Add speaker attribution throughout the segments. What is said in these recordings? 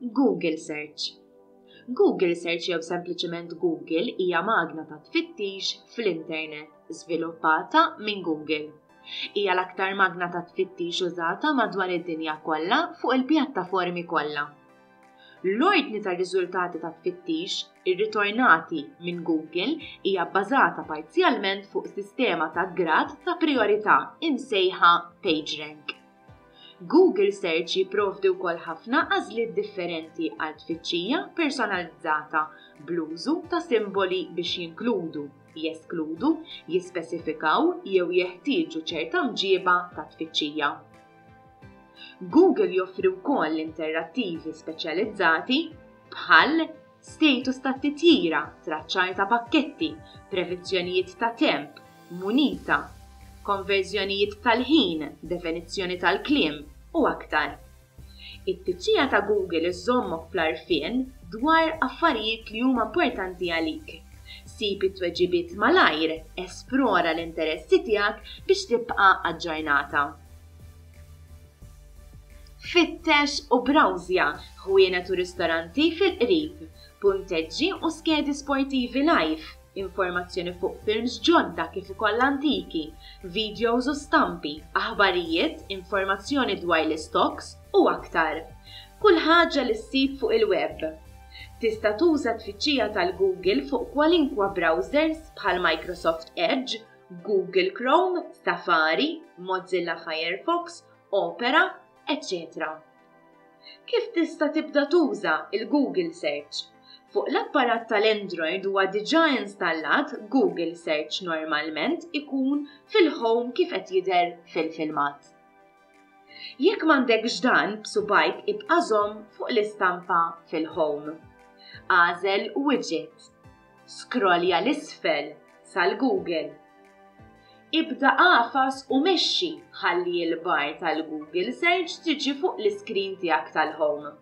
Speaker 1: Google Search Google Search jew sempliċement Google hija magna ta' tfittix fl-internet żviluppata minn Google. Hija l-aktar magna ta' tfittix użata madwar id-dinja kollha fuq il-pjattaformi kollha. L-ordni tar-riżultati ta' tfittix irritornati minn Google hija bbażata parzjalment fuq sistema ta' grad ta' prijorità imsejħa PageRank. Google Search jipprovdi wkoll ħafna għażliet differenti għal tfittxija personalizzata bl-użu ta' simboli biex jinkludu, jeskludu, jispesifikaw jew jeħtieġu ċerta mġiba ta' tfittxija. Google joffri wkoll interattivi speċjalizzati bħal status tat-titjira, traċċar ta' pakketti, previzzjonijiet ta' temp, munita, konverżjonijiet tal-ħin, definizzjoni tal-kliem, u aktar. It-tfittxija ta' Google iżżommok fl-għarfien dwar affarijiet li huma importanti għalik. Sib it-tweġibiet malajr, esplora l-interessi tiegħek biex tibqa' aġġornata. Fittex u brawżja ħwienet u ristoranti fil-qrib, punteġġi u skedi sportivi live, informazzjoni fuq films ġodda kif ukoll antiki, videos u stampi, aħbarijiet, informazzjoni dwar l-istocks u aktar. Kull ħaġa li ssib fuq il-web. Tista' tuża t-tfittxija tal-Google fuq kwalinkwa browsers bħal Microsoft Edge, Google Chrome, Safari, Mozilla Firefox, Opera, eċċetera Kif tista' tibda tuża l-Google Search? Fuq l-apparat tal-Android huwa diġà installat Google Search normalment ikun fil-Home kif qed jidher fil-filmat. Jekk m'għandekx dan, b'subgħajk ibqa' żomm fuq l-istampa fil-Home. Agħżel Widget. Skrollja 'l isfel sal-Google. Ibda agħfas u mexxi ħalli l-bar tal-Google Search tiġi fuq l-iskrin tiegħek tal-Home.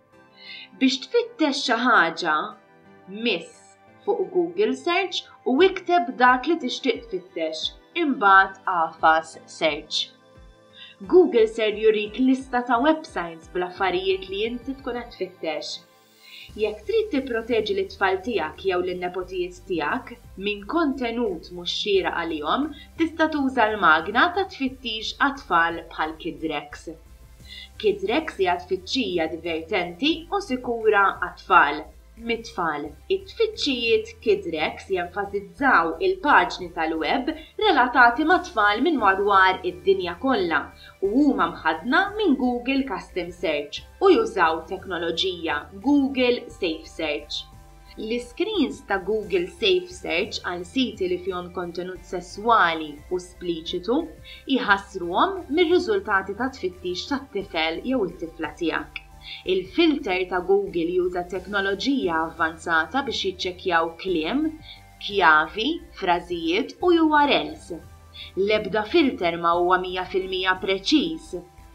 Speaker 1: Biex tfittex xi ħaġa, miss fuq Google Search u ikteb dak li tixtieq tfittex, imbagħad agħfas Search. Google ser jurik lista ta' websites bl-affarijiet li inti tkun qed tfittex. Jekk trid tipproteġi lit-tfal tiegħek jew lin-nepotijiet tiegħek minn kontenut mhux xieraq għalihom, tista' tuża l-magna ta' tfittix għat-tfal bħal KidRex. KidRex hija tfittxija divertenti u sikura għat-tfal, mit-tfal. It-tfittxijiet KidRex jenfasizzaw il-paġni tal-web relatati mat-tfal minn madwar id-dinja kollha u huma mħaddna minn Google Custom Search u jużaw teknoloġija Google Safe Search. L-iskrins ta' Google Safe Search għal siti li fihom kontenut sesswali u spliċitu jħassruhom mir-riżultati ta' tfittix tat-tifel jew it-tifla tiegħek. Il-filter ta' Google juża teknoloġija avvanzata biex jiċċekkjaw kliem, kjavi, frażijiet u URLs. L-ebda filter ma huwa 100% preċiż,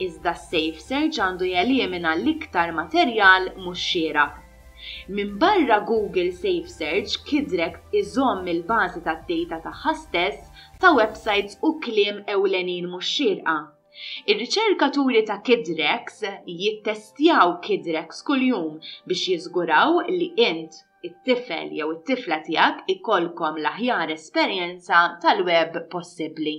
Speaker 1: iżda s-Safe Search għandu jelimina l-iktar materjal mhux xieraq. Minbarra Google Safe Search, KidRex iżomm il-bażi tad-data tagħha stess ta' websajts u kliem ewlenin mhux xierqa. Ir-riċerkaturi ta' KidRex jittestjaw KidRex kuljum biex jiżguraw li int, it-tifel jew it-tifla tiegħek ikollkom l-aħjar esperjenza tal-web possibbli.